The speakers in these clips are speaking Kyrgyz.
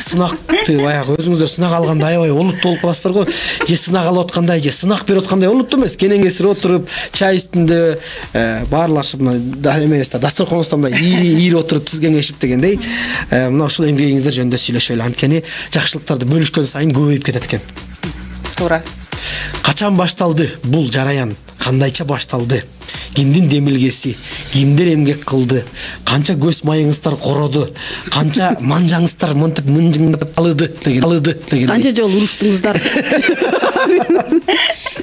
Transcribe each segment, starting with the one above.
сынакты баягы өзүңүздөр сынак алганда аябай олуттуу болуп каласыздар го. Же сынак алып аткандай, же сынак берип аткандай олуттуу эмес. Кенеңгесир отуруп, чай үстүндө баарлашып, эмебизде дасторконубузда мындай ири отуруп түз кеңешип дегендей. Мына ушул эмгегиңиздер жөнүндө сүйлөшөлү. Анткени жакшылыктарды бөлүшкөн сайын көбөйүп кетет экен. Туура. Качан башталды бул жараян? Кандайча башталды? Кимдин демилгеси, кимдер эмгек кылды? Канча көз майыңыздар короду? Канча манжаңыздар монтип мынжыңдап алды деген. Канча жолу уруштуңуздар?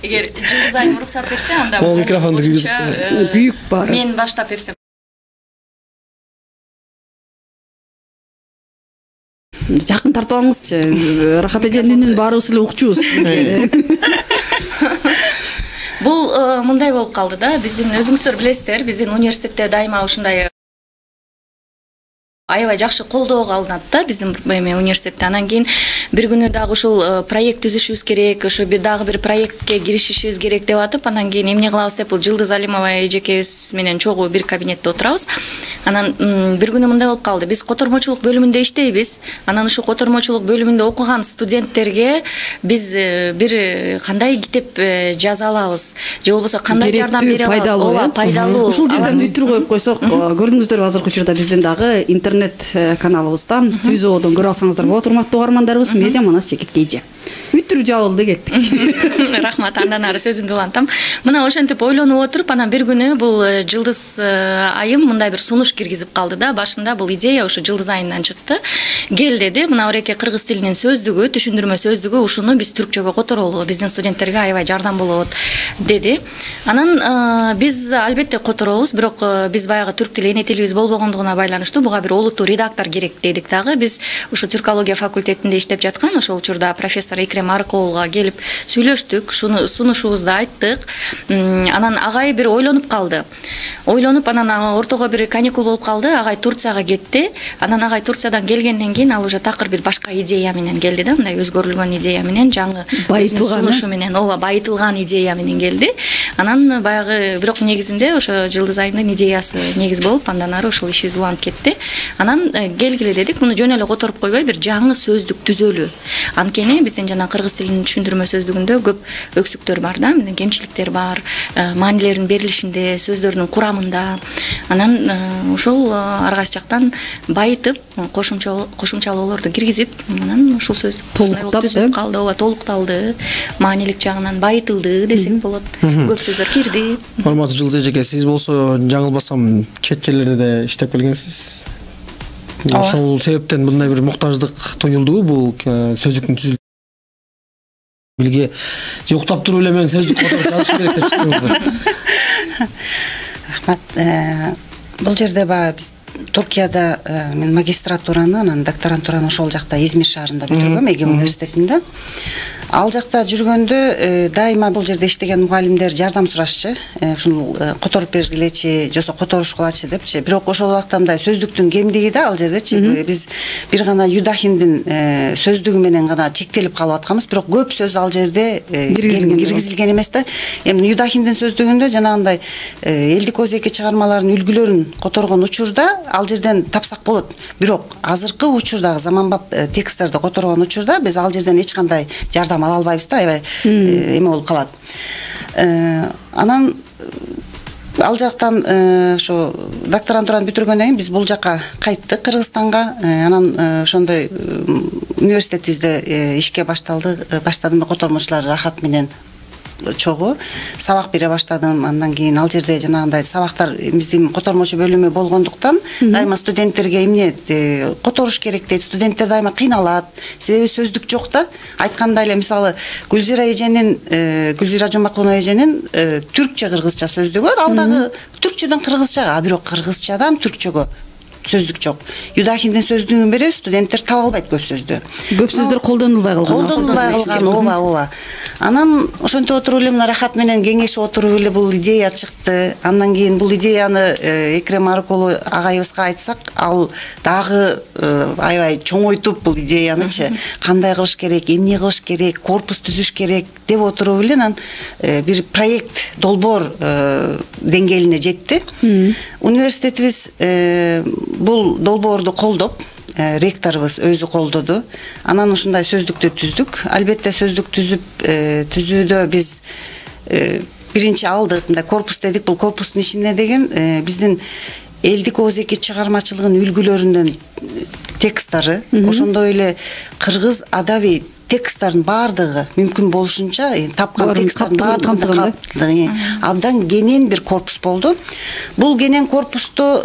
Эгер Жылдыз айым уруксат берсе, анда Ол микрофонду күйүк бар. Мен баштап берсем. Жакын тартып алыңызчы. Рахат эженин үнүн баарыбыз эле укчубуз. Бул мындай болуп калды да, биздин өзүңүздөр билесиздер, биздин университетте дайыма ушундай аябай жакшы колдоого алынат да биздин университетте. Анан кийин бир күнү дагы ушул проект түзүшүбүз керек, ошо дагы бир проектке киришишибиз керек деп атып, анан кийин эмне кылабыз деп бул Жылдыз Алимова эжекебиз менен чогуу бир кабинетте отурабыз. Анан бир күнү мындай болуп калды. Биз котормочулук бөлүмүндө иштейбиз. Анан ушул котормочулук бөлүмүндө окуган студенттерге биз бир кандай китеп жаза алабыз, же болбосо кандай жардам бере алабыз? Ооба, пайдалуу. Ушул жерден үтүр коюп койсок, көрдүңүздөрбү азыркы учурда биздин дагы интернет каналыбыздан Түзөөдөн көрө алсаңыздар болот, урматтуу угармандарыбыз. Медиа Манас Жекет Эже. Үтүр жабылды кеттик. Рахмат, андан ары сөзүмдү улантам. Мына ошентип ойлонуп отуруп, анан бир күнү бул Жылдыз айым мындай бир сунуш киргизип калды да. Башында бул идея ошо Жылдыз айымдан чыкты. Кел деди, мына ореке кыргыз тилинин сөздүгү, түшүндүрмө сөздүгү, ушуну биз түркчөгө которолу, биздин студенттерге аябай жардам болот деди. Анан биз албетте которобуз, бирок биз баягы түрк тили эне тилибиз болбогондугуна байланыштуу буга бир олуттуу редактор керек дедик дагы. Биз ушу түркология факультетинде иштеп жаткан ошол учурда профессор Экрем Арыкоолуга келип сүйлөштүк, шуну сунушубузду айттык. Анан агай бир ойлонуп калды. Ойлонуп, анан ортого бир каникул болуп калды. Агай Турцияга кетти. Анан агай Турциядан келгенден кийин ал уже такыр бир башка идея менен келди да, мындай өзгөрүлгөн идея менен, жаңы сунушу менен, ооба, байытылган идея менен келди. Анан баягы бирок негизинде ошо Жылдыз айымдын идеясы негиз болуп, андан ары ушул ишибиз уланып кетти. Анан келгиле дедик, муну жөн эле которуп койбой бир жаңы сөздүк түзөлү. Анткени биздин жана кыргыз тилинин түшүндүрмө сөздүгүндө көп өксүктөр бар да, кемчиликтер бар, маанилердин берилишинде, сөздөрдүн курамында. Анан ушул ар кайсы жактан байытып, кошумчалоолорду киргизип, анан ушул сөздүк түзүлүп калды, ооба, толукталды, маанилик жагынан байытылды десек болот. Көп сөздөр кирди. Урматтуу Жылдыз эжеке, сиз болсо жаңылбасам чет жерлерде да иштеп келгенсиз. Ошол себептен мындай бир муктаждык туюлдубу бул сөздүктүн түзүлүшүнө? Билге же уктап туруп эле мен сөздүк которуп жазыш керек деп чыктыңызбы? Рахмат. Бул жерде биз Туркияда мен магистратураны, анан докторантураны ошол жакта Измир шаарында бүтүргөм, Эге университетинде. Ал жакта жүргөндө дайыма бул жерде иштеген мугалимдер жардам сурашчы, ушул которуп бергилечи, жосо которушкулачы депчи. Бирок ошол убакта мындай сөздүктүн кемдиги да ал жердечи. Биз бир гана Юдахиндин сөздүгү менен гана чектелип калып атканбыз, бирок көп сөз ал жерде киргизилген эмес да. Эми Юдахиндин сөздүгүндө жанагындай элдик өзеки чыгармалардын үлгүлөрүн которгон учурда ал жерден тапсак болот. Бирок азыркы учурдагы заманбап тексттерди которгон учурда биз ал жерден эч кандай жардам ала албайбыз да, аябай эме болуп калат. Анан ал жактан ошо докторантураны бүтүргөндөн кийин биз бул жака кайттык, Кыргызстанга. Анан ошондой университетибизде ишке баштадым котормочулар Рахат менен чогуу сабак бере баштадым. Андан кийин ал жерде жанагындай сабактар биздин котормочу бөлүмү болгондуктан дайыма студенттерге эмне которуш керек дейт. Студенттер дайыма кыйналат, себеби сөздүк жок да. Айткандай эле мисалы Гүлзира Жомакулова эженин түркчө кыргызча сөздүгү бар, ал дагы түркчөдөн кыргызчага, бирок кыргызчадан түркчөгө сөздүк жок. Юдахиндин сөздүгүн беребиз, студенттер таба албайт көп сөздү. Көп сөздөр колдонулбай калган. Ооба. Анан ошентип отуруп эле мына Рахат менен кеңешип отуруп эле бул идея чыкты. Андан кийин бул идеяны Экрем Арыкоолу агайыбызга айтсак, ал дагы аябай чоңойтуп бул идеянычы кандай кылыш керек, эмне кылыш керек, корпус түзүш керек деп отуруп эле анан бир проект долбоор деңгээлине жетти. Университетибиз бул долбоорду колдоп, ректорубуз өзү колдоду. Анан ушундай сөздүктү түздүк. Албетте сөздүк түзүүдө биз биринчи алдык, мындай корпус дедик. Бул корпустун ичинде деген биздин элдик ооз-эки чыгармачылыгынын үлгүлөрүнөн тексттары, ошондой эле кыргыз адабий тексттардын баардыгы мүмкүн болушунча тапкан тексттардын баардыгы абдан кенен бир корпус болду. Бул кенен корпусту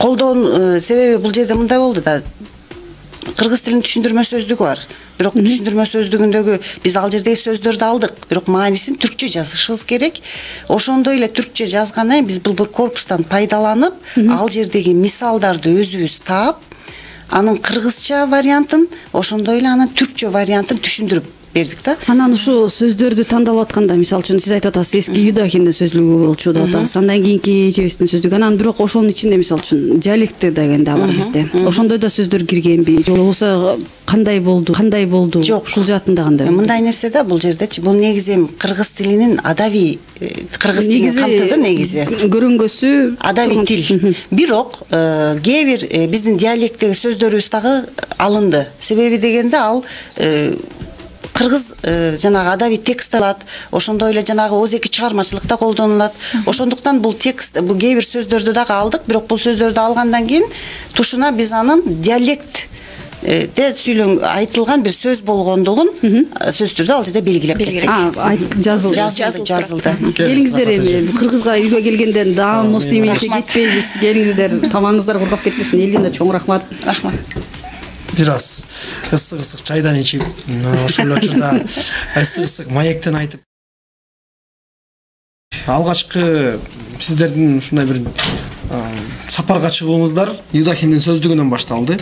колдоо себеби бул жерде мындай болду да. Кыргыз тилинин түшүндүрмө сөздүгү бар. Бирок түшүндүрмө сөздүгүндөгү биз ал жердеги сөздөрдү алдык, бирок маанисин түркчө жазышыбыз керек. Ошондой эле түркчө жазгандан кийин биз бул корпустан пайдаланып, ал жердеги мисалдарды өзүбүз таап, анын кыргызча вариантын, ошондой эле анын түркчө вариантын түшүндүрүп бердик да. Анан ушу сөздөрдү тандалып атканда, мисалы үчүн сиз айтып атасыз, эски Юдахиндин сөзлүгү болчу деп атасыз. Андан кийинки эжебиздин сөздүгү. Анан бирок ошонун ичинде мисалы үчүн диалекти деген да бар бизде. Ошондой да сөздөр киргенби? Же болбосо кандай болду? Жок, ушул жаатында кандай? Мындай нерсе да, бул жердечи бул негизи кыргыз тилинин адабий кыргыз тилин камтыды негизи. Көрөнгөсү адабий тил. Бирок кээ бир биздин диалектеги сөздөрүбүз дагы алынды. Себеби дегенде ал кыргыз жанагы адабий текст алат, ошондой эле жанагы ооз-эки чыгармачылыкта колдонулат. Ошондуктан бул текст, бул кээ бир сөздөрдү дагы алдык, бирок бул сөздөрдү алгандан кийин тушуна биз анын диалект айтылган бир сөз болгондугун сөзсүз түрдө ал жерде белгилеп кеттик. Жазылды. Келиңиздер эми кыргызга үйгө келгенден даамыбыз тиймейинче кетпейбиз. Келиңиздер, тамагыңыздар кургап кетпесин. Элден да чоң рахмат. Рахмат. Бир аз ысык чайдан ичип, ошол учурда ысык маектен айтып. Алгачкы сиздердин ушундай бир сапарга чыгууңуздар Юдахиндин сөздүгүнөн башталды.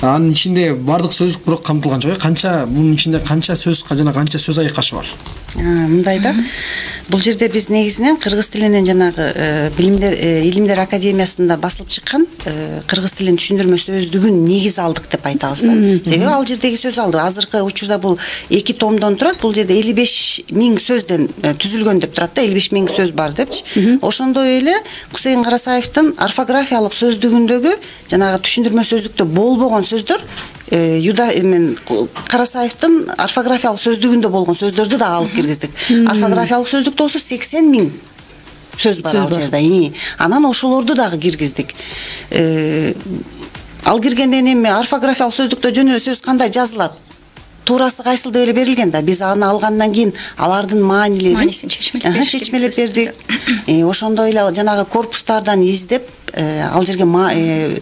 Анын ичинде бардык сөздүк бирок камтылган жок. Мунун ичинде канча сөз, жана канча сөз айкашы бар? Мындай да. Бул жерде биз негизинен кыргыз тилинен жанагы илимдер академиясында басылып чыккан кыргыз тилинин түшүндүрмө сөздүгүн негиз алдык деп айтабыз да. Себеби ал жердеги сөз алды. Азыркы учурда бул 2 томдон турат. Бул жерде 55.000 сөздөн түзүлгөн деп турат да. 55.000 сөз бар депчи. Ошондой эле Кусейин Карасаевдин орфографиялык сөздүгүндөгү жанагы түшүндүрмө сөздүктө болбогон сөздөр Карасаевдин орфографиялык сөздүгүндө болгон сөздөрдү да алып киргиздик. Орфографиялык сөздүктө болсо 80.000 сөз бар ал жерде. Анан ошолорду дагы киргиздик. Ал киргенден эми орфографиялык сөздүктө жөн эле сөз кандай жазылат? Туурасы кайсыл деп эле берилген да. Биз аны алгандан кийин алардын маанилерин чечмелеп бердик. Ошондой эле жанагы корпустардан издеп ал жерге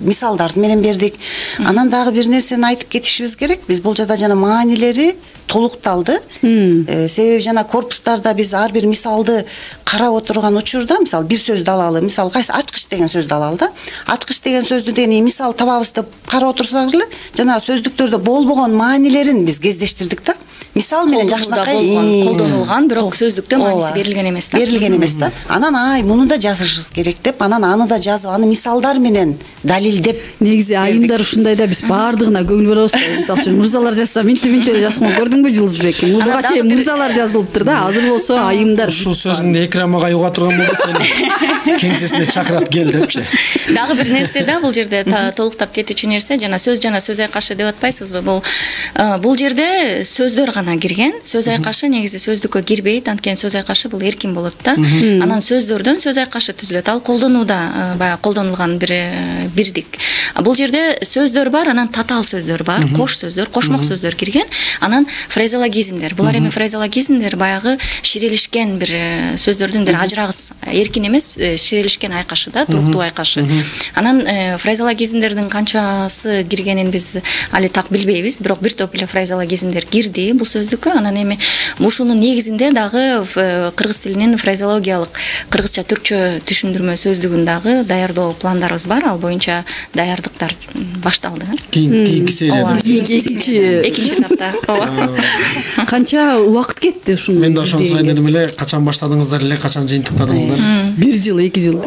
мисалдар менен бердик. Анан дагы бир нерсени айтып кетишибиз керек. Биз бул жерде жана маанилери толукталды. Себеби жана корпустарда биз ар бир мисалды карап отурган учурда, мисалы бир сөздү алалы, мисалы кайсы ачкыч деген сөздү алалы да. Ачкыч деген сөздү деген мисал табабыз деп карап отурсак эле, жана сөздүктөрдө болбогон маанилерин биз кездештирдик да. Мисал менен жакшынакай колдонулган, бирок сөздүктө мааниси берилген эмес да. Берилген эмес да. Анан муну да жазышыбыз керек деп, анан аны да жазып, аны мисалдар менен далилдеп. Негизи айымдар ушундай да, биз баардыгына көңүл бурабыз да. Мисалы үчүн мырзалар жазса, минтип эле жазган. Көрдүңбү Жылызбек? Мурга чейин мырзалар жазылыптыр да. Азыр болсо айымдар. Ушул сөзүңдү Экрам агай уга турган болсо, сени кеңсесине чакырат кел депчи. Дагы бир нерсе да, бул жерде толуктап кетүүчү нерсе, жана сөз айкашы деп атпайсызбы? Бул жерде сөздөр гана кирген. Сөз айкашы негизи сөздүккө кирбейт. Анткени сөз айкашы бул эркин болот да. Анан сөздөрдөн сөз айкашы түзүлөт. Ал колдонууда баягы колдонулган бирдик. Бул жерде сөздөр бар, анан татаал сөздөр бар, кош сөздөр, кошмок сөздөр кирген. Анан фразеологизмдер. Булар эми фразеологизмдер баягы ширелишкен бир сөздөрдүн бир ажырагыс, эркин эмес, ширелишкен айкашы да, туруктуу айкашы. Анан фразеологизмдердин канчасы киргенин биз али так билбейбиз, бирок бир топ эле фразеологизмдер кирди бул сөздүккө. Анан эми ушунун негизинде дагы кыргыз тилинин фразеологиялык кыргызча түркчө түшүндүрмө сөздүгүн дагы даярдоо пландарыбыз бар. Ал боюнча даярдыктар башталды. Кийинки серияда. Экинчи этапта. Канча убакыт кетти ушуну? Мен да ошону сурайын дедим эле, качан баштадыңыздар эле, качан жыйынтыктадыңыздар? 1 жыл, 2 жыл.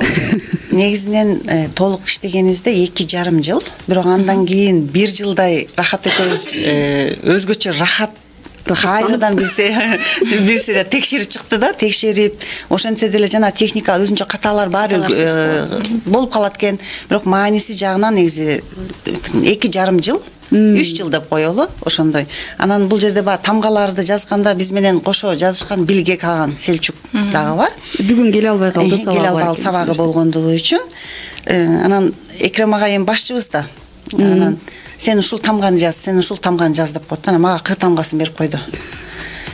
Негизинен толук иштегенибизде 2,5 жыл. Бирок андан кийин 1 жылдай рахат экөөбүз өзгөчө рахат кайрадан бир сыйра текшерип чыкты да, текшерип ошентсе деле жана техника өзүнчө каталар баары болуп калат экен. Бирок мааниси жагынан негизи 2,5 жыл 3 жыл деп коелу ошондой. Анан бул жерде баягы тамгаларды жазганда биз менен кошо жазышкан Билге Каган Селчук дагы бар. Бүгүн келе албай калды, сабагы болгондугу үчүн. Анан Экрем агайым башчыбыз да. Анан сен ушул тамганы жаз, сен ушул тамганы жаз деп коет. Анан мага К тамгасын берип койду.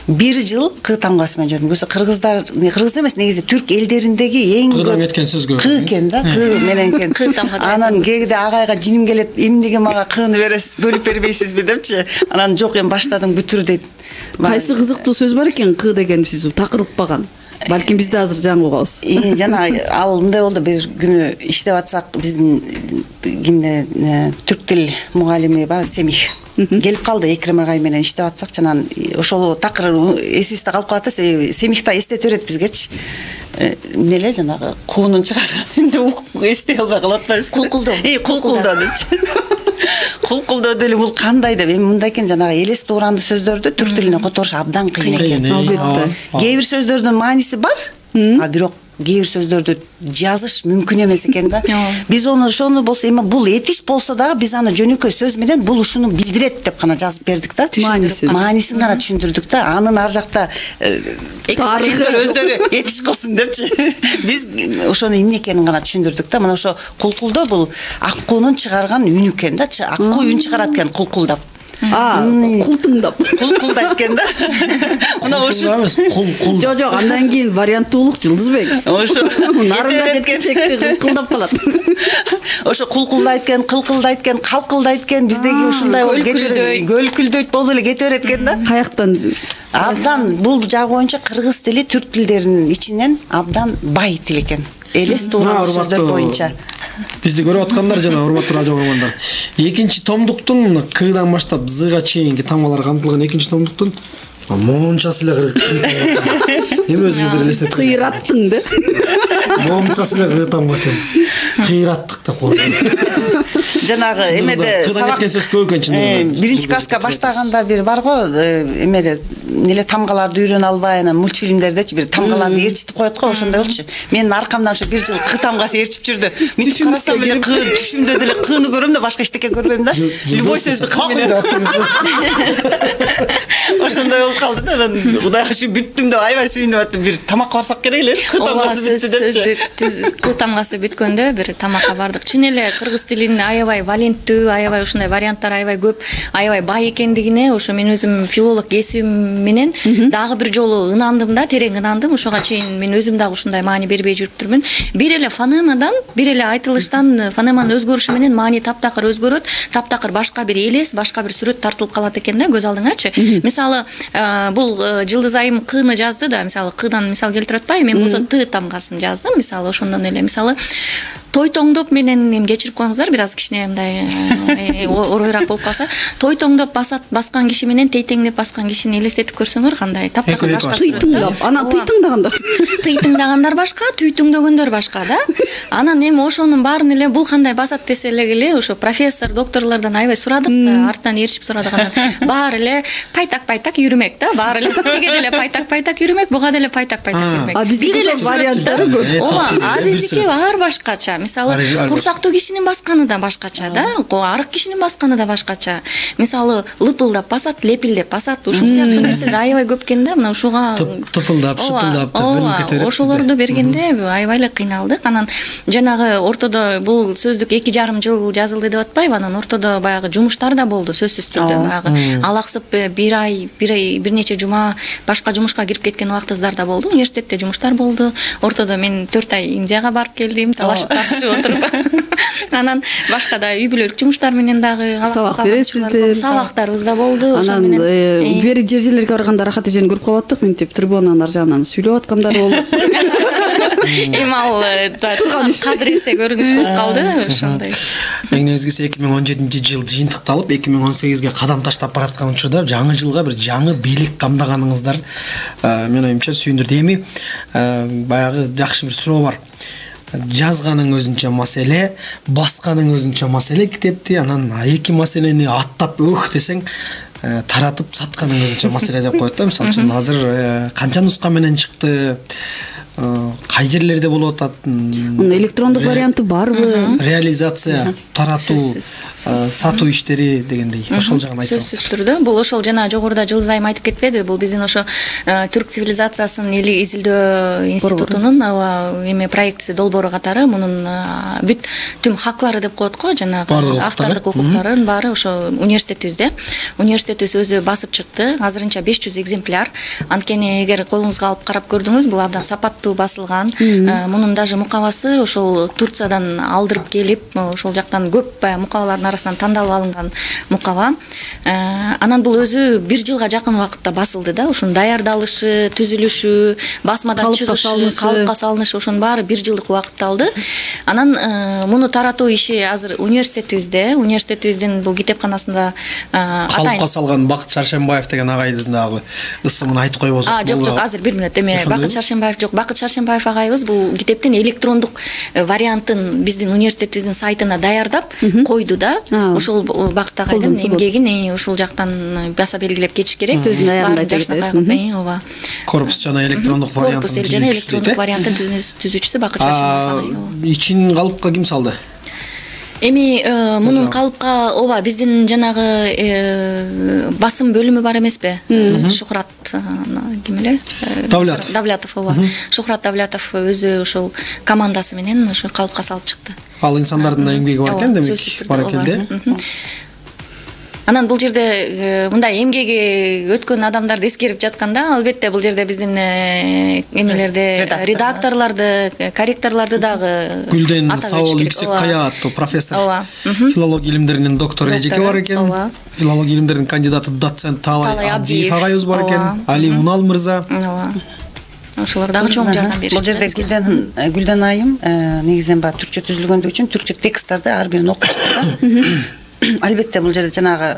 1 жыл К тамгасы менен жүрдүм. Көзү кыргыз эмес, негизи түрк элдериндеги эң Кыдан кеткен сөзгө К экен да, К менен экен. Анан кээде агайга жиним келет, эмнеге мага Кны бересиз, бөлүп бербейсизби депчи. Анан жок, эми баштадым, бүтүр дейт. Кайсы кызыктуу сөз бар экен К деген сиз такыр укпаган? Балким биз да азыр жаңы угабыз. Жана ал мындай болду, бир күнү иштеп атсак, биздин кимде түрк тил мугалими бар, Семих келип калды, Экрем агай менен иштеп атсак, жана ошол такыр эсибизде калып калат да, Семих да эстете берет бизгечи. Эмне жанагы куунун чыгарган эмне эстей албай калып атпайбыз. Кулкулдоо. Кулкулдоо депчи. Кулкулдоо деле бул кандай деп, эми мындай экен, жанагы элес тууранды сөздөрдү түрк тилине которуш абдан кыйын экен. Албетте. Кээ бир сөздөрдүн мааниси бар, а бирок кээ бир сөздөрдү жазыш мүмкүн эмес экен да. Биз ошону болсо, эми бул этиш болсо дагы биз аны жөнөкөй сөз менен бул ушуну билдирет деп гана жазып бердик да. Маанисин гана түшүндүрдүк да. Анын ар жакта тарыхтар өздөрү этиш кылсын депчи. Биз ошону эмне экенин гана түшүндүрдүк да. Мына ошо кулкулдоо бул ак куунун чыгарган үнү экен да. Ак куу үн чыгарат экен кулкулдап. Култуңдап. Кулкулдайт экен да. Мына ошо Жок, андан кийин варианттуулук Жылдызбек. Ошо нарынга жеткичекти кулкулдап калат. Ошо кулкулдайт экен, кылкылдайт экен, калкылдайт экен, биздеги ушундай болуп кетет. Көлкүлдөйт болуп эле кете берет экен да. Каяктан? Абдан бул жагы боюнча кыргыз тили түрк тилдеринин ичинен абдан бай тил экен. Элес туура сөздөр боюнча. Бизди көрүп аткандар жана урматтуу радио көргөндөр. Экинчи томдуктун Кдан баштап Зга чейинки тамгалар камтылган экинчи томдуктун мончасы эле эми өзүңүздөр элестетип кыйраттың да. Мончасы эле тамга экен. Кыйраттык деп коет. Жанагы эмеде сабак сөз көп экен чын. Биринчи класска баштаганда бир бар го, эмеде эле тамгаларды үйрөнө албай, анан мультфильмдердечи бир тамгаларды ээрчитип коет го, ошондой болчу. Менин аркамдан ошо 1 жыл К тамгасы ээрчип жүрдү. Мен карасам эле К түшүмдө деле Кны көрөм да, башка эчтеке көрбөйм да. Любой сөздү К менен. Ошондой болуп калды да. Анан Кудайга шүгүр бүттүм деп аябай сүйүнүп аттым. Бир тамакка барсак керек эле. К тамгасы бүттү депчи. К тамгасы бүткөндө бир тамакка бардык. Чын эле кыргыз тилинин аябай валенттүү, аябай ушундай варианттар аябай көп, аябай бай экендигине ошо мен өзүм филолог кесибим менен дагы бир жолу ынандым да, терең ынандым. Ошого чейин мен өзүм дагы ушундай маани бербей жүрүптүрмүн. Бир эле фонемадан, бир эле айтылыштан фонеманын өзгөрүшү менен маани таптакыр өзгөрөт, таптакыр башка бир элес, башка бир сүрөт тартылып калат экен да көз алдыңачы. Мисалы, бул Жылдыз айым Кны жазды да, мисалы Кдан мисал келтирип атпайбы, мен болсо Т тамгасын жаздым, мисалы ошондон эле. Мисалы той тоңдоп менен эми кечирип коюңуздар, бир аз кичине мындай оройраак болуп калса, той тоңдоп баскан киши менен тейтеңдеп баскан кишини элестетип көрсөңөр кандай таптакыр башка. Тыйтыңдап, анан тыйтыңдагандар. Тыйтыңдагандар башка, түйтүңдөгөндөр башка да. Анан эми ошонун баарын эле бул кандай басат десе эле ошо профессор, докторлордон аябай сурадык да, артынан ээрчип сурадык. Анан баары эле пайтак йүрмөк да, баары эле тиге деле пайтак йүрмөк, буга деле пайтак йүрмөк. А биздики варианттары көп. Ооба, а биздики баары башкача. Мисалы, курсактуу кишинин басканы да башкача да, арык кишинин басканы да башкача. Мисалы, лыпылдап басат, лепилдеп басат, ушул сыяктуу нерселер аябай көп экен да, мына ушуга тыпылдап, шыпылдап деп бөлүнүп кетет. Ошолорду бергенде аябай эле кыйналдык. Анан жанагы ортодо бул сөздүк 2,5 жыл жазылды деп атпайбы, анан ортодо баягы жумуштар да болду, сөзсүз түрдө. Баягы алаксып бир нече жума башка жумушка кирип кеткен убактыздар да болду. Университетте жумуштар болду. Ортодо мен 4 ай Индияга барып келдим, талашып тартышып отуруп. Анан башка да үй бүлөлүк жумуштар менен дагы сабак бересиздер. Сабактарыбыз да болду. Ошол менен бери жер-жерлерге барганда Рахат эжени көрүп калып аттык, мынтип трибунанын ар жагынан сүйлөп аткандары болду. Эми ал кадыр эсе көрүнүш болуп калды ошондой. Негизгиси 2017 жыл жыйынтыкталып 2018ге кадам таштап бараткан учурда жаңы жылга бир жаңы бийлик камдаганыңыздар менин оюмча сүйүндүрдү. Эми баягы жакшы бир суроо бар. Жазганың өзүнчө маселе, басканың өзүнчө маселе китепти, анан эки маселени аттап десең таратып сатканын өзүнчө маселе деп коет да. Мисалы үчүн азыр канча нуска менен чыкты, кай жерлерде болуп атат, Анын электрондук варианты барбы? Реализация, таратуу, сатуу иштери дегендей. Ошол жагын айтсаңыз. Сөзсүз түрдө бул ошол жана жогоруда Жылдыз айым айтып кетпедиби? Бул биздин ошо түрк цивилизациясын изилдөө институтунун эме проектиси долбоору катары мунун бүт түм хаклары деп коет го, жанагы автордук укуктарын баары ошо университетибизде. Университетибиз өзү басып чыкты. Азырынча 500 экземпляр. Анткени эгер колуңузга алып карап көрдүңүз, бул абдан сапаттуу басылган. Мунун даже мукабасы ошол Турциядан алдырып келип, ошол жактан көп мукабалардын арасынан тандалып алынган мукаба. Анан бул өзү 1 жылга жакын убакытта басылды да. Ошонун даярдалышы, түзүлүшү, басмадан чыгышы, калыпка салынышы ошонун баары 1 жылдык убакыт алды. Анан муну таратуу иши азыр университетибиздин бул китепканасында калыпка салган Бакыт Шаршембаев деген агайдын дагы ысымын айтып койбосок болобу? Жок, азыр 1 мүнөт эме Бакыт Шаршембаев жок. Бакыт Шаршембаев агайыбыз бул китептин электрондук вариантын биздин университетибиздин сайтына даярдап койду да. Ошол Бакыт агайдын эмгегин ушул жактан баса белгилеп кетиш керек. Сөздүн аягында дегендей. Ооба. Корпус жана электрондук варианттын түзүүчүсү Бакыт Шаршембаев агай. Ичин калыпка ким салды? Эми мунун калыпка биздин жанагы басым бөлүмү бар эмеспи? Шухрат ким эле? Давлятов. Шухрат Давлятов өзү ошол командасы менен ошо калыпка салып чыкты. Ал инсандардын эмгеги бар экен демек, баракелде. Анан бул жерде мындай эмгеги өткөн адамдарды эскерип жатканда, албетте бул жерде биздин эмелерди, редакторлорду, корректорлорду дагы Гүлден Саул Ипсеккая аттуу профессор, филология илимдеринин доктору эжеке бар экен. Филология илимдеринин кандидаты доцент Талай Абдиев агайыбыз бар экен. Али Унал мырза. Ошолор дагы чоң жардам беришти. Бул жерде Гүлден айым негизинен баягы түркчө түзүлгөндүгү үчүн түркчө тексттарды ар бирин окуп чыкты. Албетте бул жерде жанагы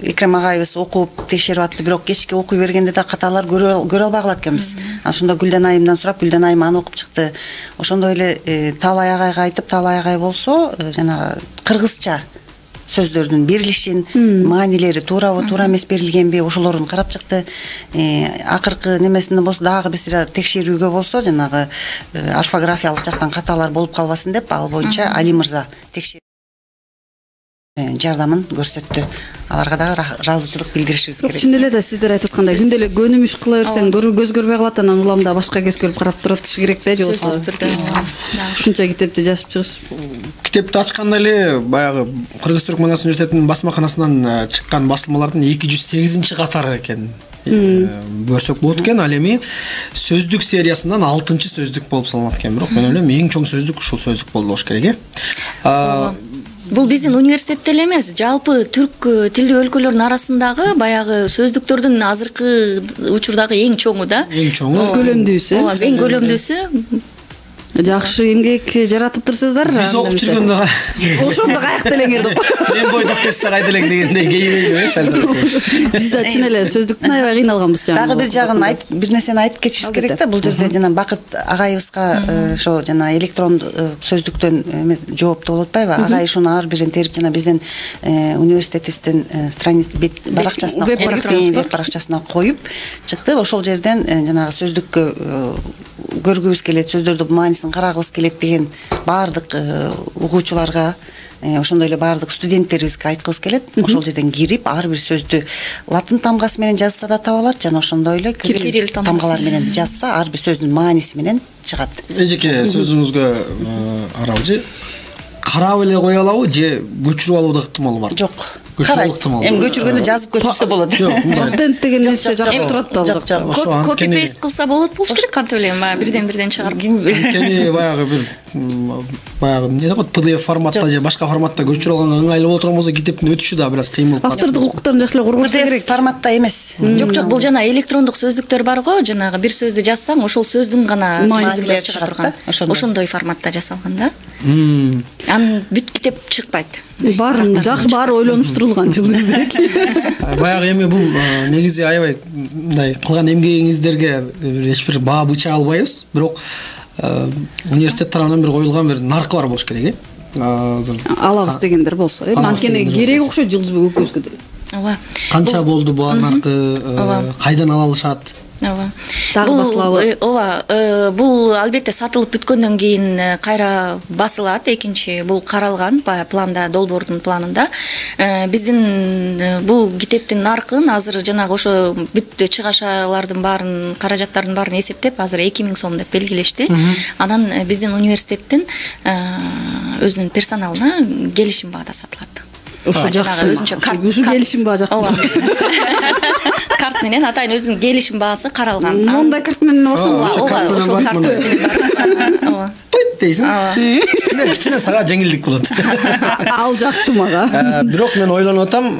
Экрем агайыбыз окуп текшерип атты, бирок кечке окуй бергенде да каталар көрө албай калат экенбиз. Ошондо Гүлден айымдан сурап, Гүлден айым аны окуп чыкты. Ошондой эле Талай агайга айтып, Талай агай болсо жанагы кыргызча сөздөрдүн берилишин, маанилери туурабы, туура эмес берилгенби, ошолорун карап чыкты. Акыркы немесинде болсо дагы бир сыйра текшерүүгө болсо жанагы орфографиялык жактан каталар болуп калбасын деп, ал боюнча Али мырза жардамын көрсөттү. Аларга дагы ыраазычылык билдиришибиз керек. Чын эле да сиздер айтып аткандай күндө эле көнүм иш кыла берсең көз көрбөй калат, анан уламда башка көзгө келип карап турат керек да, жок. Ушунча китепти жазып чыгыш. Китепти ачканда эле баягы Кыргыз Түрк Манас университетинин басмаканасынан чыккан басылмалардын 208 катары экен. Көрсөк болот экен. Ал эми сөздүк сериясынан 6-чы сөздүк болуп салынат экен. Бирок мен ойлойм эң чоң сөздүк ушул сөздүк болду болуш керек. Бул биздин университетте эле эмес, жалпы түрк тилдүү өлкөлөрдүн арасындагы баягы сөздүктөрдүн азыркы учурдагы эң чоңу да. Эң чоңу. Көлөмдүүсү. Эң көлөмдүүсү. Жакшы эмгек жаратып турсуздар. Биз окуп жүргөндө ошондо каякта элеңер деп. Мен бойдок тесте кайда элең дегендей кейбейби, Шарзат. Биз да чын эле сөздүктүн аябай кыйналганбыз жана. Дагы бир жагын айтып, бир нерсени айтып кетишибиз керек да. Бул жерде жана Бакыт агайыбызга ошо жана электрон сөздүктөн жоопту болуп атпайбы? Агай ушуну ар бирин терип жана биздин университетибиздин баракчасына, веб баракчасына коюп чыкты. Ошол жерден жанагы сөздүккө көргүбүз келет, сөздөрдүн маанисин карагыбыз келет деген баардык угуучуларга, ошондой эле баардык студенттерибизге айткыбыз келет. Ошол жерден кирип, ар бир сөздү латын тамгасы менен жазса да таба алат, жана ошондой эле кирилл тамгалар менен жазса, ар бир сөздүн мааниси менен чыгат. Эжеке сөзүңүзгө аралжы карап эле кое алабы же көчүрүп алуу да ыктымал бар? Жок. Эми көчүргөндө жазып көчүрсө болот. Патент деген нерсе жакшы турат да. Копи пейст кылса болот болуш керек, кантип эле бирден чыгарып. Анткени баягы бир баягы эмне дейт, PDF форматта же башка форматта көчүрүп алганга ыңгайлуу боло турган болсо китептин өтүшү да бир аз кыйын болуп калат. Автордук укуктарын жакшылап коргош керек. Форматта эмес. Жок, бул жана электрондук сөздүктөр бар го, жанагы бир сөздү жазсаң, ошол сөздүн гана маанисин чыга турган. Ошондой форматта жасалган да. Анын бүт китеп чыкпайт. Баарын жакшы, баары ойлонуштурулган Жылдыз Бек. Баягы эми бул негизи аябай мындай кылган эмгегиңиздерге эч бир баа быча албайбыз, бирок университет тарабынан бир коюлган бир наркы бар болуш керек, азыр алабыз дегендер болсо, анткени керек окшойт Жылдыз Бек экөөбүзгө деле. ооба. Канча болду бу анаркы, кайдан ала алышат? Ооба. Дагы басылабы? Ооба. Бул албетте сатылып бүткөндөн кийин кайра басылат. Экинчи бул каралган планда, долбоордун планында. Биздин бул китептин наркын азыр жанагы ошо бүт чыгашалардын баарын, каражаттардын баарын эсептеп, азыр 2000 сом деп белгилешти. Анан биздин университеттин өзүнүн персоналына келишим баада сатылат. Ошо жакта өзүнчө келишим баа жакта. Карт менен атайын өзүнүн келишим баасы каралган. Мондай карт менен барсаң, ошол карт менен. Ооба. Пойт дейсиң. Кичине сага жеңилдик болот. Ал жакты мага. Бирок мен ойлонуп атам,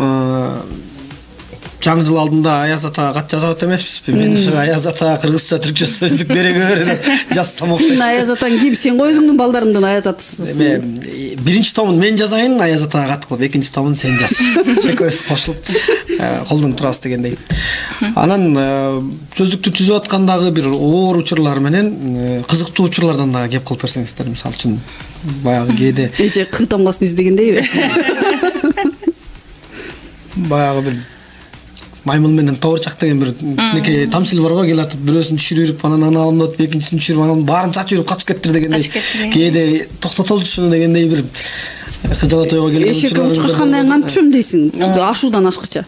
жаңы жыл алдында Аяз атага кат жазабыт эмеспизби? Мен ушу Аяз атага кыргызча, түркчө сөздүк бере деп жазсам окшойт. Сен Аяз атаң ким? Сен го өзүңдүн балдарыңдан Аяз атысысың. Биринчи томун мен жазайын, Аяз атага кат кылып, экинчи томун сен жаз. Экөөбүз кошулуп колдонуп турабыз дегендей. Анан сөздүктү түзүп аткандагы бир оор учурлар менен кызыктуу учурлардан дагы кеп кылып берсеңиздер, мисалы үчүн баягы кээде Эже кый тамгасын издегендейби? Баягы бир маймыл менен тоорчак деген бир кичинекей тамсил бар го, келатып бирөөсүн түшүрүп, анан аны алып, экинчисин түшүрүп, анан баарын чачып жүрүп качып кеттир дегендей. Кээде токтотолчу дегендей бир кыжала тойго келген учурлар. Эшекке учкачкандай кантип түшөм дейсиң? Ашуудан ашкыча.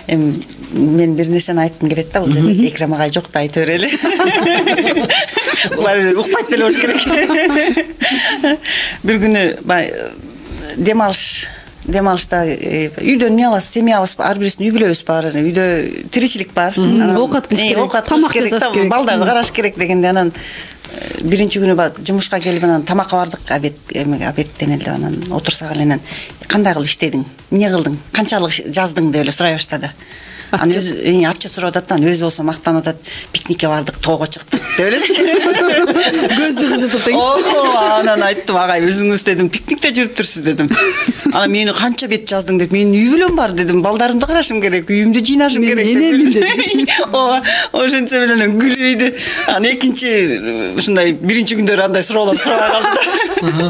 Эми мен бир нерсени айткым келет да, бул жерде Экрам агай жок да айта берели. Булар укпайт деле болуш керек. Бир күнү демалышта үйдөн эмне аласыз, семьябыз, ар бирибиздин үй бүлөбүз бар, үйдө тиричилик бар. Оокат кылыш керек, тамак жасаш керек, балдарды караш керек дегенде, анан биринчи күнү жумушка келип анан тамакка бардык, обедтен эле анан отурсак эле кандай кылып иштедиң, эмне кылдың, канчалык жаздың деп эле сурай баштады. Анан өзү отчет сурап атат, анан өзү болсо мактанып атат, пикникке бардык, тоого чыктык деп эле. Көздү кызытып тең. Анан айттым, агай өзүңүз дедим, пикникте жүрүптүрсүз дедим. Анан мени канча бет жаздың деп, менин үй бүлөм бар дедим, балдарымды карашым керек, үйүмдү жыйнашым керек деп. Ооба, ошентсе менен күлүп ийди. Анан экинчи ушундай биринчи күндөр андай суроолор сурабай калды.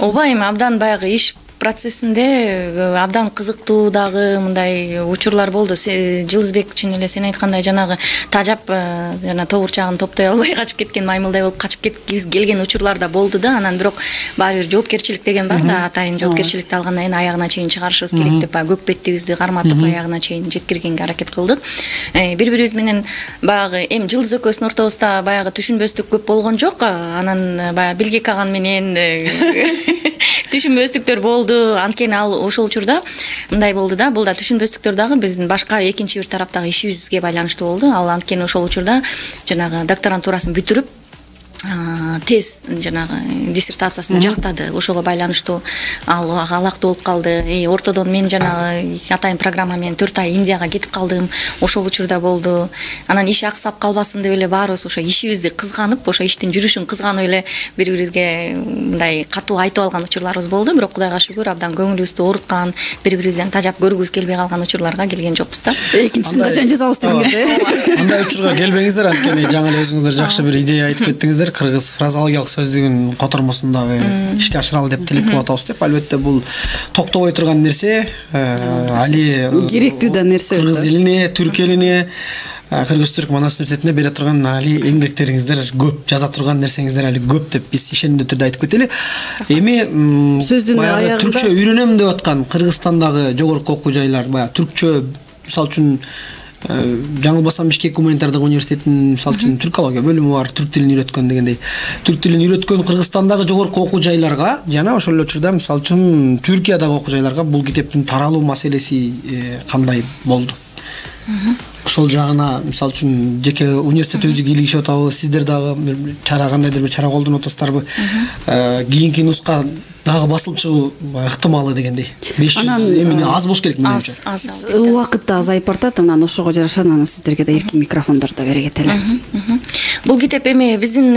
Ооба, эми абдан баягы иш процессинде абдан кызыктуу дагы мындай учурлар болду. Жылдызбек чын эле сен айткандай жанагы тажап жана тобурчагын топтой албай качып кеткен маймылдай болуп качып келген учурлар да болду да. Анан бирок баары бир жоопкерчилик деген бар да, атайын жоопкерчиликти алгандан кийин аягына чейин чыгарышыбыз керек деп көк беттибизди карматып аягына чейин жеткиргенге аракет кылдык. Бири-бирибиз менен баягы эми Жылдыз экөөбүздүн ортобузда баягы түшүнбөстүк көп болгон жок. Анан баягы Билгек аган менен түшүнбөстүктөр болду. Анткени ал ошол учурда мындай болду да, бул да түшүнбөстүктөр дагы биздин башка экинчи бир тараптагы ишибизге байланыштуу болду. Ал анткени ошол учурда жанагы докторантурасын бүтүрүп тез жанагы диссертациясын жактады. Ошого байланыштуу ал алакты болуп калды. Ортодон мен жанагы атайын программа менен 4 ай Индияга кетип калдым. Ошол учурда болду. Анан иш аксап калбасын деп эле баарыбыз ошо ишибизди кызганып, ошо иштин жүрүшүн кызганып эле бири-бирибизге мындай катуу айтып алган учурларыбыз болду. Бирок Кудайга шүгүр, абдан көңүлүбүздү ооруткан, бири-бирибизден тажап көргүбүз келбей калган учурларга келген жокпуз да. Экинчисин качан жазабыз дегенде. Андай учурга келбеңиздер, анткени жаңы эле өзүңүздөр жакшы бир идея айтып кеттиңиздер. Кыргыз фразеологиялык сөздүгүн котормосундагы ишке ашыралы деп тилек кылып атабыз деп. Албетте бул токтобой турган нерсе, али керектүү да нерсе. Кыргыз элине, түрк элине, Кыргыз-түрк манас университетине бере турган али эмгектериңиздер көп, жаза турган нерсеңиздер али көп деп биз ишенимдүү түрдө айтып кетели. Эми сөздүн аягында түркчө үйрөнөм деп аткан Кыргызстандагы жогорку окуу жайлар, баягы түркчө, мисалы үчүн жаңылбасам Бишкек гуманитардык университетинин мисалы үчүн түркология бөлүмү бар, түрк тилин үйрөткөн дегендей. Түрк тилин үйрөткөн Кыргызстандагы жогорку окуу жайларга жана ошол эле учурда мисалы үчүн Түркиядагы окуу жайларга бул китептин таралуу маселеси кандай болду? Ошол жагына мисалы үчүн жеке университет өзү кийлигишип атабы, сиздер дагы бир чара кандайдыр бир чара колдонуп атасыздарбы? Кийинки нуска дагы басылып чыгуу ыктымалы дегендей. 500 эмне аз болуш керек менимче. Аз. Убакыт да азайып бартат, анан ошого жараша анан сиздерге да эркин микрофондорду бере кетели. Бул китеп эми биздин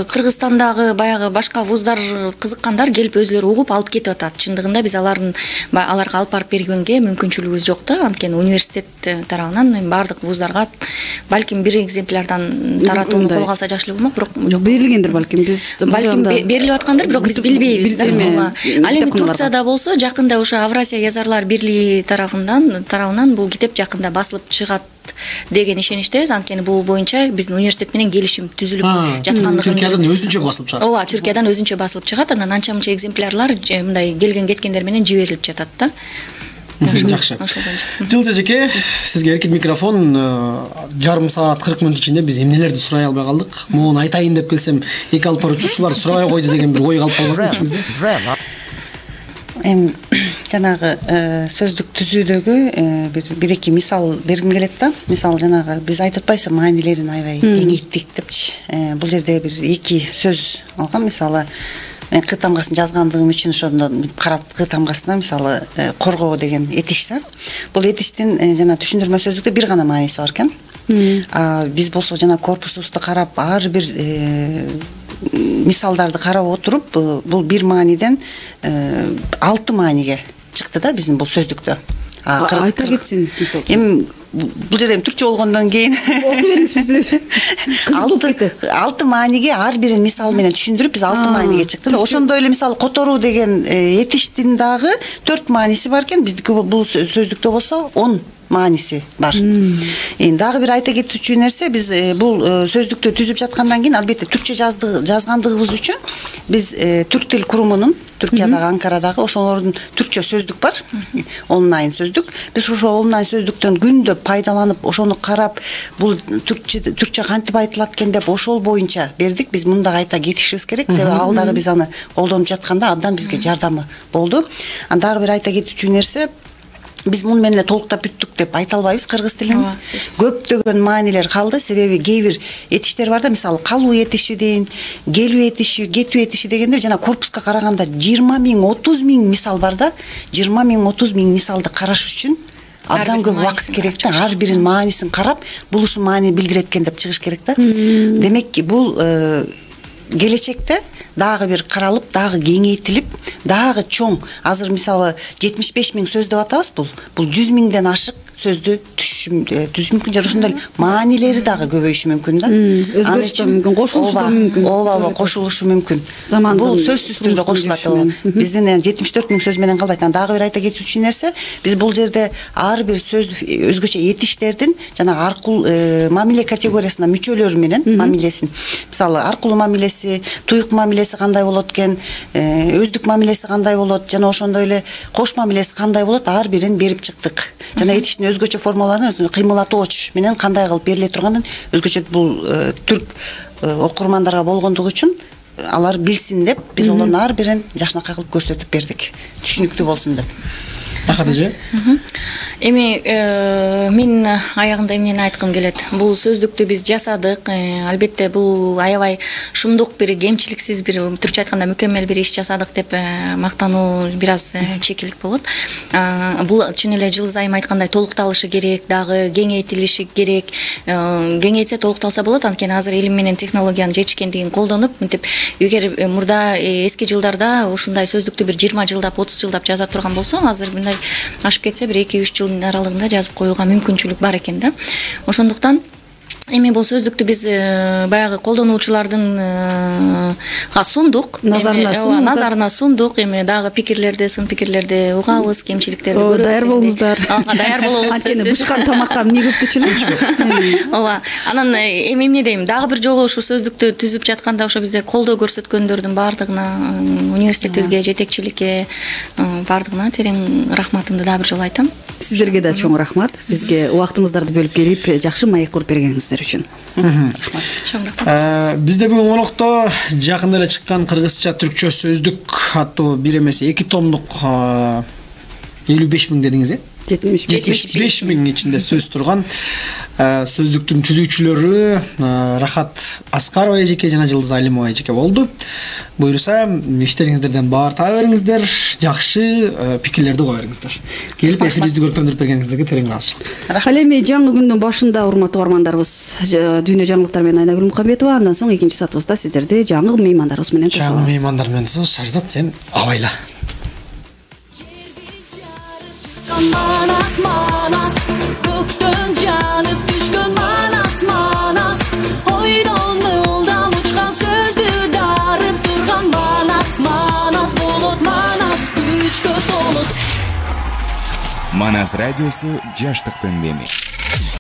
Кыргызстандагы баягы башка вуздар кызыккандар келип өзүлөрү угуп алып кетип атат. Чындыгында биз аларга алып барып бергенге мүмкүнчүлүгүбүз жок да. Анткени университет тарабынан баардык вуздарга балким бир экземплярдан таратууну колго алса жакшы эле болмок, бирок берилгендир балким, биз берилип аткандыр, бирок биз билбейбиз да. Ал эми Турцияда болсо жакында ошо Аврасия Yazarlar Бирлиги тарабынан бул китеп жакында басылып чыгат деген ишеништебиз. Анткени бул боюнча биздин университет менен келишим түзүлүп жаткандыгын. Түркиядан өзүнчө басылып чыгат. Ооба, Түркиядан өзүнчө басылып чыгат. Анан анча-мынча экземплярлар мындай келген кеткендер менен жиберилип жатат да. Жакшы. Жылдыз эжеке, сизге эркин микрофон. Жарым саат 40 мүнөт ичинде биз эмнелерди сурай албай калдык. Муну айтайын деп келсем, эки алып барып учуучулар сурабай койду деген бир ой калып калбасын ичиңизде. Эми жанагы сөздүк түзүүдөгү бир эки мисал бергим келет да. Мисалы жанагы биз айтып атпайбызбы, маанилерин аябай кеңейттик депчи. Бул жерде бир эки сөз алгам. Мисалы мен Кы тамгасын жазгандыгым үчүн ошондо карап Кы тамгасына мисалы коргоо деген этиш да. Бул этиштин жана түшүндүрмө сөздүктө бир гана мааниси бар экен. Биз болсо жана корпусубузду карап ар бир мисалдарды карап отуруп бул бир мааниден 6 мааниге чыкты да биздин бул сөздүктө. Айта кетсеңиз мисалы. Эми бул жерде түркчө болгондон кийин окуй бериңиз бизге. Кызык болуп кетти. 6 мааниге ар бирин мисал менен түшүндүрүп биз 6 мааниге чыкты. Ошондой эле мисалы которуу деген этиштин дагы 4 мааниси бар экен. Биздики бул сөздүктө болсо 10 мааниси бар. Эми дагы бир айта кетүүчү нерсе, биз бул сөздүктү түзүп жаткандан кийин албетте түркчө жазгандыгыбыз үчүн биз түрк тил курумунун Түркиядагы Анкарадагы ошолордун түркчө сөздүк бар. Онлайн сөздүк. Биз ошо онлайн сөздүктөн күндө пайдаланып, ошону карап, бул түркчө кантип айтылат экен деп ошол боюнча бердик. Биз мында кайта кетишибиз керек. Себеби ал дагы биз аны колдонуп жатканда абдан бизге жардамы болду. Дагы бир айта кетүүчү нерсе, биз муну менен толуктап бүттүк деп айта албайбыз кыргыз тилин. Көптөгөн маанилер калды. Себеби кээ бир этиштер бар да, мисалы калуу этиши дейин, келүү этиши, кетүү этиши дегенде жана корпуска караганда 20 000, 30 000 мисал бар да. 20 000, 30 000 мисалды караш үчүн абдан көп убакыт керек да. Ар бирин маанисин карап, бул ушул маани билдирет экен деп чыгыш керек да. Демек бул келечекте дагы бир каралып, дагы кеңейтилип, дагы чоң. Азыр мисалы 75 000 сөз деп атабыз бул. Бул 100 000ден ашык сөздү түзүш мүмкүн. Жана ошондой маанилери дагы көбөйүшү мүмкүн да. Өзгөрүшү мүмкүн, кошулушу да мүмкүн. Ооба, кошулушу мүмкүн. Бул сөзсүз түрдө кошулат. Биздин 74 000 сөз менен калбайт. Дагы бир айта кетүүчү нерсе, биз бул жерде ар бир сөз өзгөчө этиштердин жана аркул мамиле категориясына мүчөлөрү менен мамилесин. Мисалы аркулуу мамилеси, туюк мамилеси кандай болот экен, өздүк мамилеси кандай болот, жана ошондой эле кош мамилеси кандай болот, ар бирин берип чыктык. Жана этиштин өзгөчө формулаларын кыймылатооч менен кандай кылып бериле турганын өзгөчө бул түрк окурмандарга болгондугу үчүн алар билсин деп биз олордун ар бирин жакшынакай кылып көрсөтүп бердик. Түшүнүктүү болсун деп. Рахат эже. Эми мен аягында эмнени айткым келет. Бул сөздүктү биз жасадык. Албетте бул аябай шумдук бир кемчиликсиз бир түркчө айтканда мүкөммел бир иш жасадык деп мактануу бир аз чекилик болот. Бул чын эле Жылдыз айым айткандай толукталышы керек, дагы кеңейтилиши керек. Кеңейтсе толукталса болот. Анткени азыр илим менен технологиянын жетишкендигин колдонуп, мынтип эгер мурда эски жылдарда ушундай сөздүктү бир 20 жылдап, 30 жылдап жаза турган болсо, азыр мындай ашып кетсе бир 2-3 жылдын аралыгында жазып коюуга мүмкүнчүлүк бар экен да. Ошондуктан эми бул сөздүктү биз баягы колдонуучулардын сундук, назарына сундук. Эми дагы пикирлерди, сын пикирлерди угабыз, кемчиликтерди көрөбүз. Даяр болуңуздар. Даяр болобуз. Анткени бышкан тамакка эмне көптүчүлүк. Ооба. Анан эми эмне дейм, дагы бир жолу ушу сөздүктү түзүп жатканда ошо бизде колдоо көрсөткөндөрдүн баардыгына, университетибизге, жетекчиликке баардыгына терең рахматымды дагы бир жолу айтам. Сиздерге да чоң рахмат. Бизге убактыңыздарды бөлүп келип, жакшы маек куруп бергениңиздер үчүн. Чоң рахмат. Бизде бүгүн конокто жакында эле чыккан кыргызча түркчө сөздүк аттуу бир эмес 2 томдук 55 000 дедиңиз, 75 000 ичинде сөз турган сөздүктүн түзүүчүлөрү Рахат Аскарова эжеке жана Жылдыз Алимова эжеке болду. Буюрса, иштериңиздерден баар таба бериңиздер, жакшы пикирлерди кое бериңиздер. Келип эфирибизди көрүктөндүрүп бергениңиздерге терең ыраазычылык. Ал эми жаңы күндүн башында урматтуу угармандарыбыз, дүйнө жаңылыктар менен Айнагүл Мукамбетова, андан соң экинчи сатыбызда сиздерди жаңы меймандарыбыз менен тособуз. Жаңы меймандар менен тособуз. Шарзат, сен абайла. Manas manas, gökten canıp düşkün manas manas, oydan ıldan uçkan sözdü darıp durgan manas manas, bulut радиосу жаштыктын деми.